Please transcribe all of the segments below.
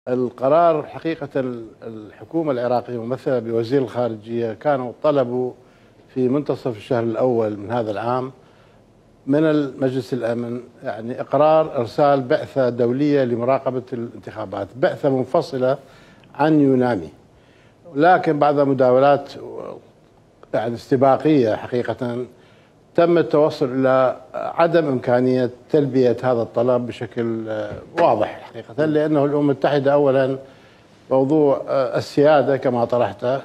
القرار حقيقة الحكومة العراقية ممثلة بوزير الخارجية كانوا طلبوا في منتصف الشهر الأول من هذا العام من المجلس الأمن يعني إقرار إرسال بعثة دولية لمراقبة الانتخابات، بعثة منفصلة عن يونامي، لكن بعد مداولات يعني استباقية حقيقة تم التوصل إلى عدم إمكانية تلبية هذا الطلب بشكل واضح حقيقة، لأنه الأمم المتحدة أولا موضوع السيادة كما طرحته،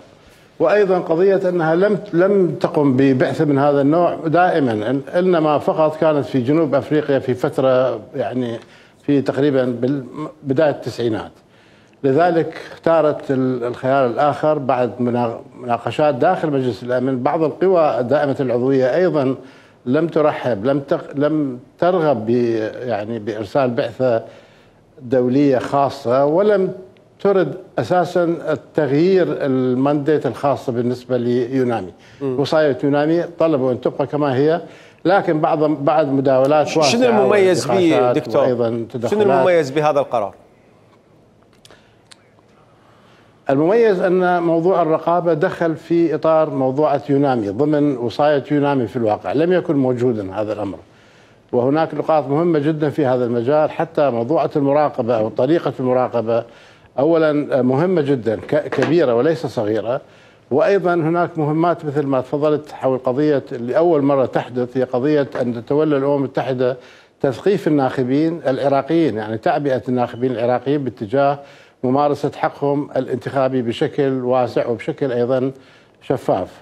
وأيضا قضية أنها لم تقم ببعثة من هذا النوع دائما، إنما فقط كانت في جنوب أفريقيا في فترة يعني في تقريبا بداية التسعينات. لذلك اختارت الخيار الآخر بعد مناقشات داخل مجلس الأمن. بعض القوى دائمة العضوية أيضا لم ترحب، لم ترغب يعني بإرسال بعثة دولية خاصة، ولم ترد أساسا التغيير المانديت الخاصة بالنسبة ليونامي. وصاية يونامي طلبوا أن تبقى كما هي، لكن بعد مداولات واسعة. شنو المميز به دكتور؟ شنو المميز بهذا القرار؟ المميز أن موضوع الرقابة دخل في إطار موضوعة يونامي ضمن وصاية يونامي، في الواقع لم يكن موجودا هذا الأمر، وهناك نقاط مهمة جدا في هذا المجال. حتى موضوعة المراقبة أو طريقة المراقبة أولا مهمة جدا كبيرة وليس صغيرة، وأيضا هناك مهمات مثل ما تفضلت حول قضية اللي أول مرة تحدث، هي قضية أن تتولى الأمم المتحدة تثقيف الناخبين العراقيين، يعني تعبئة الناخبين العراقيين باتجاه ممارسة حقهم الانتخابي بشكل واسع وبشكل أيضا شفاف.